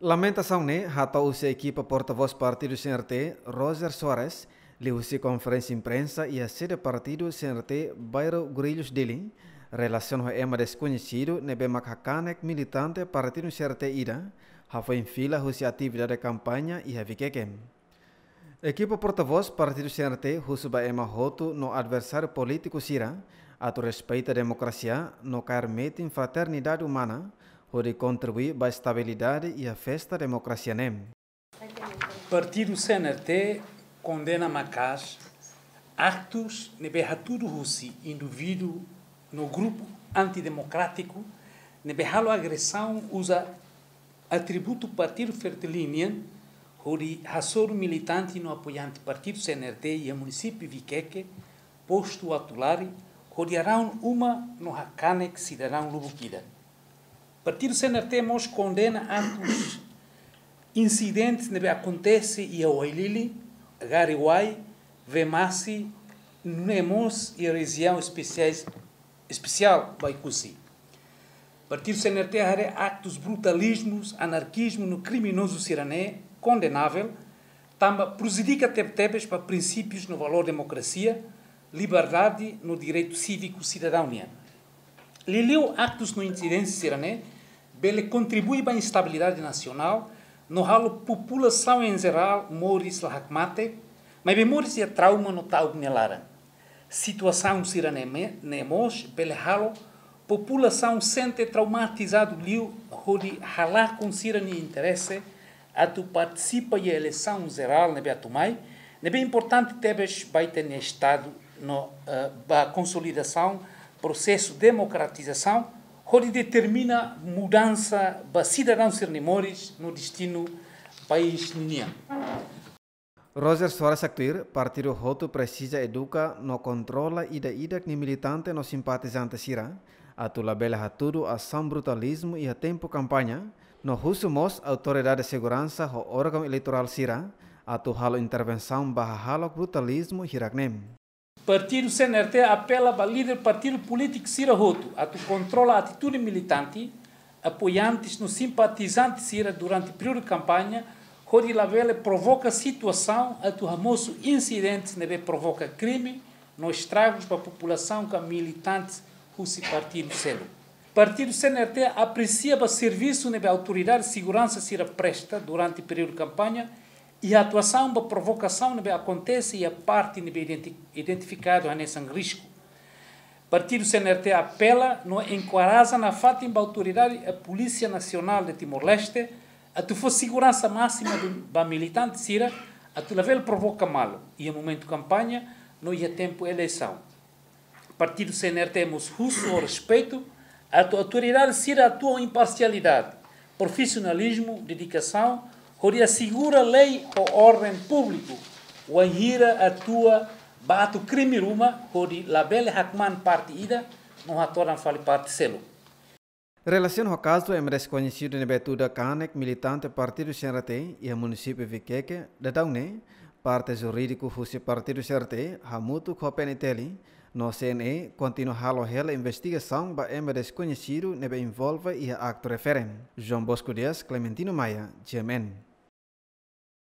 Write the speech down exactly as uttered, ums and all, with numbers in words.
Lamentasaun ne'e hato'o husi ekipa portavós partidu C N R T, Roger Soares, liuhusi konferénsia imprensa iha sede partidu C N R T, bairru Guarulhos, Dili, relasiona ho ema deskoñesidu ne'ebé mak hakanek militante partidu C N R T ida, hafoin fila husi atividade kampaña iha Viqueque. Ekipa portavós partidu C N R T husu ba ema hotu no adversáriu polítiku sira atu respeita demokrasia no kaer metin fraternidade umana, hodi kontribui ba estabilidade iha festa demokrasia ne'e. Partidu C N R T kondena maka'as aktus ne'ebé hatudu husi indivíduu no grupu antidemokrátiku ne'ebé halo agresaun uza atributu partidu Fretilin nian, hodi hasoru militante no apoiante partidu C N R T iha munisípiu Viqueque, postu Atulari, hodi haraun uma no hakanek sidadaun lubuk ida. Partidu C N R T mós kondena aktus insidentes ne'ebé akontese iha Uailili, Gariuai, Vemasi, no mós iha rejiaun espesiais, espesiál Baicusi. Partidu C N R T haree aktus brutalizmus, anarkizmu no kriminozu sira-ne'e kondenavel, tanba prejudika tebetebes ba prinsípius no valór demokrasia, liberdade no direitu síviku sidadaun nian. Liuliu aktus no insidénsia sira-ne'e bele kontribui ba instabilidade nasionál no halo populasaun em jerál moris la hakmatek, maibé moris iha trauma no ta'uk nia laran. Situasaun sira-ne'e me-, ne'e mós bele halo populasaun sente traumatizadu liu hodi halakon sira-nia interese atu partisipa iha eleisaun jerál ne'ebé atu mai, ne'ebé importante tebes ba ita-nia Estadu no, eh, ba konsolidasaun prosesu demokratizasaun, hodi determina mudansa ba sidadaun sira-nia moris no destinu país ninian. Roger Soares haktuir, partidu hotu presiza eduka no kontrola ida-idak nia militante no simpatizante sira, atu labele hatudu asaun brutalizmu iha tempu kampaña, no husu mós autoridade seguransa ho órgaun eleitorál sira atu halo intervensaun ba hahalok brutalizmu hirak-ne'e. Partidu C N R T apela ba líder partidu polítiku sira hotu atu kontrola atitude militante, apoiantes no simpatizante sira durante períodu kampaña, hodi labele provoka situasaun atu hamosu insidentes ne'ebé provoka krime no estragus ba populasaun ka militantes husi partidu seluk. Partidu C N R T apresia ba servisu ne'ebé autoridade seguransa sira presta durante períodu kampaña, iha atuasaun ba provokasaun ne'ebé akontese iha parte ne'ebé identi-, identifikadu hanesan risku. Partidu C N R T apela no enkoraja nafatin ba autoridade, eh, Polísia Nasionál de Timor-Leste atu fó seguransa másima ba militante sira atu labele provoka malu iha momentu kampaña no iha tempu eleisaun. Partidu C N R T mós husu ho respeitu atu autoridade sira atua ho imparsialidade, profisionalizmu, dedikasaun, hodi asegura lei ho orden públiku, wainhira atua ba atu krime ruma, hodi labele hakmaan parte ida no hatodan fali parte seluk. Relasiona ho kazu ema deskoñesidu ne'ebé tuda kanek militante partidu C N R T iha munisípiu Viqueque, daudaun ne'e, parte jurídiku husi partidu C N R T hamutuk ho P N T L no C N E kontinua halo hela investigasaun ba ema deskoñesidu ne'ebé envolve iha aktu refere. João Bosco Dias, Clementino Maia, G M N.